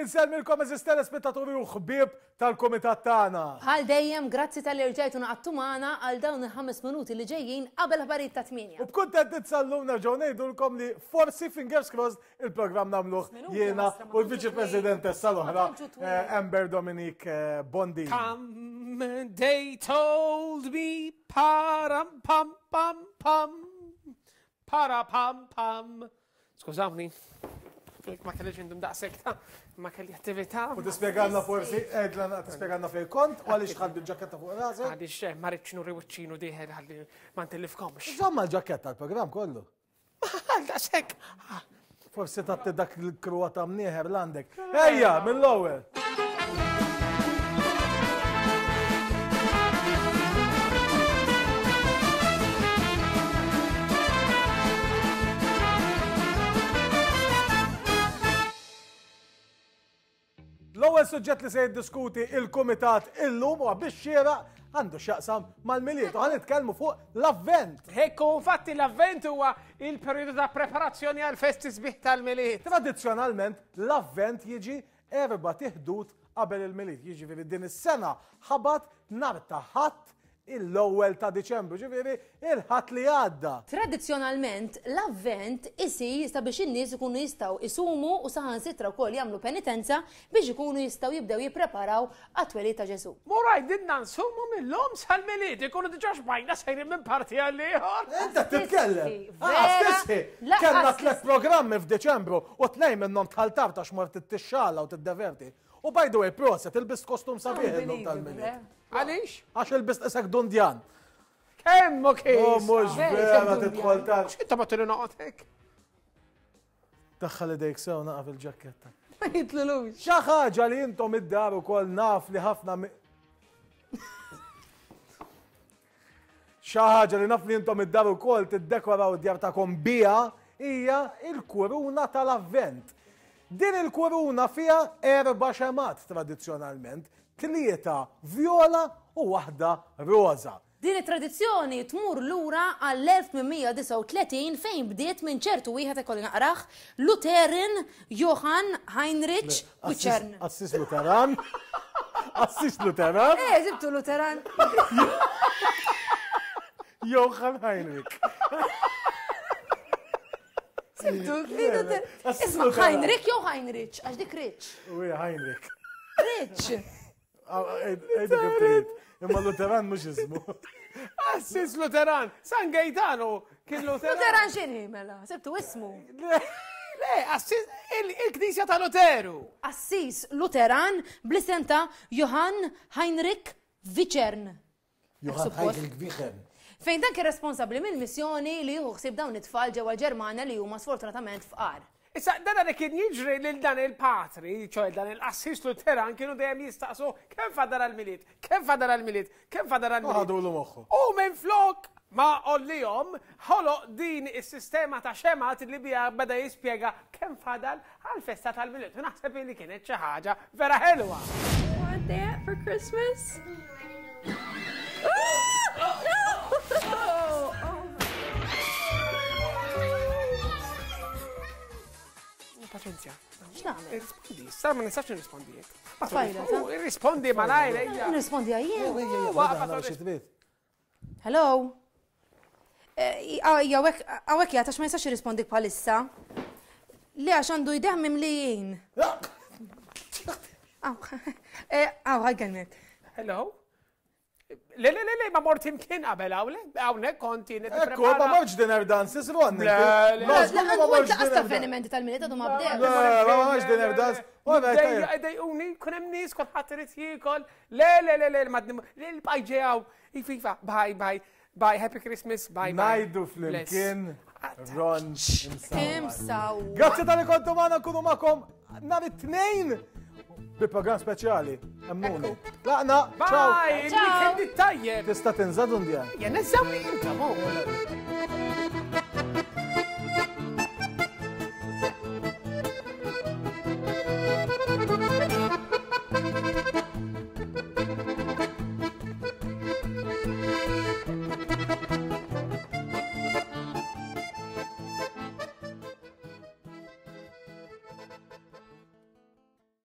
Insellmilkom eżis telespettaturi u ħbieb tal-kumitat tagħna. Bħal dejjem, grazzi talli rġajtu ngħaqadtu magħna għal dawn il-ħames minuti li ġejjin qabel ħbarijiet ta' tmienja. U b'kuntentizza llum nerġgħu ngħidulkom li forsi fingers crossed il-programm nagħmluh jiena u l-Viċi Presidentessa l-oħra eh, Amber Dominique eh, Bondi. Come, they told me, param pam pam pam, para pam pam. Skużawni, ma kellix indum daqshekk ta' ma kelli attività. U tispjegalna forsi, għedla tispjegalna fejn kont u għaliex tħaddi l-ġaketta fuq rasek. Għaliex eh, ma rridx nuri wiċċinu dieħel ħalli ma ntellifkomx. Żomma l-ġaketta l-programm kollu. Għal daqshekk. Forsi tatti dak il-kruwa ta' mnieħer l-għandek. Ejja, mill-ewwel. L-ewwel suġġett li se jiddiskuti il-Kumitat illum huwa biex xieraq għandu x'jaqsam mal-Milied u ħa nitkellmu fuq l-Avvent. Ekku, infatti l-Avvent huwa il-perjodu ta' preparazzjoni għal festi sbieħ tal-Milied. Tradizzjonalment l-Avvent jiġi erba' tiħdud qabel il-Milied, jiġifieri din is-sena ħabat nhar ta' Ħadd l-ewwel ta' Diċembru, ġifieri il-Ħadd li għadda. Tradizzjonalment, l-Avvent isir sabiex in-nies ikunu jistgħu jsumu u saħansitra wkoll jagħmlu penitenza biex ikunu jistgħu jibdew jippreparaw għat-twelid ta' Ġesù. Mur għidilna nsumu mil-lum sal-Milied, ikunu diġà xbajna sejrin minn parti għall-ieħor. Int qed titkellem! Lanqas tisħi! Kellna tlett programmi f'Diċembru u tnejn minnhom dħalt tard għax mort tixxala u tiddeverti. U by the way, proset, ilbist kostum sabiħ illum tal-Milied. Għaliex? Għax ilbist isek dundjan. Kemm u kif? Oh, mhux vera tidħol tard. X'inta ma tilu noqgħod hekk? Daħħal idejk sew naqa' fil-ġakketta. Ma jitlulux. Xi ħaġa li intom id-dar ukoll naf li ħafna Xi ħaġa li naf li intom id-dar ukoll tiddekoraw id-djar tagħkom biha hija l-kuruna tal-Avvent. Din il-kuruna fiha erba' xemgħat tradizzjonalment, tlieta vjola u waħda roża. Din it-tradizzjoni tmur lura għall-1839 fejn bdiet minn ċertu wieħed ikolli naqrah, Lutheran Johann Heinrich Wichern. Assis Lutheran. Assis Lutheran. Eh, zibtu Lutheran. Johann Heinrich. Sibtu, Isma, Heinrich jew Heinrich, għax dik Rich. Ui, Heinrich. Rich. Ejdu kif trid. Imma Lutheran mhux ismu. Assis Lutheran, San Gaetano kien Lutheran. Lutheran x'inhi mela? Sibtu ismu. Le, Assis il-Knisja ta' Luteru. Assis Lutheran bl-isem ta' Johann Heinrich Wichern. Johann Heinrich Wichern. Fejn dan kien responsabbli mill-missjoni li jieħu ħsieb dawn it-tfal ġewwa l-Ġermanja li huma sfortunatament fqar. Issa, dan li kien jiġri lil dan il-patri, ċoe dan il-qassis Luteran, kienu dejjem jistaqsu kemm fadal għall-Milied, kemm fadal għall-Milied, kemm fadal għall-Milied. Ħadulu moħħu. U minflok ma għollihom, ħoloq din is-sistema ta' xemgħat li biha beda jispjega kemm fadal għall-festa tal-Milied. U naħseb li kienet xi ħaġa vera ħelwa. Want that for Christmas? Paċenzja. X'nagħmel? Irrispondi, issa ma nistax nirrispondi jekk. Tfajla, ta' Irrispondi malajr, ejja. Nirrispondi għajjien. Waqfa Hello? Għawek jgħat għax ma jistax jirrispondik bħalissa. Le għax għandu jdeħ mimlijin. Għaw, ħajkelmek. Hello? Le, le, le, le, ma mort imkien qabel hawn, hawnhekk konti Ekku, ma mortx dinner dances, Ron. Le, le, le, ma mortx dinner avvenimenti tal-miliet għadu ma bdew. Le, ma mortx dinner dance. Dejquni, kun hemm nies kulħadd irid jiekol. Le, le, le, le, ma l-bajġew. Ififa, bye, bye. Bye, happy Christmas, bye, bye. Najdu flimkien Ron Imsaw. Grazzi tal-li kontu maħna nkunu magħkom nhar it-tnejn bi program speċjali. Emmuni. Laqna, ciao. Bye, il-weekend tajjeb. Tista' tinżad undjan. Jen, nżaw li inta, mo.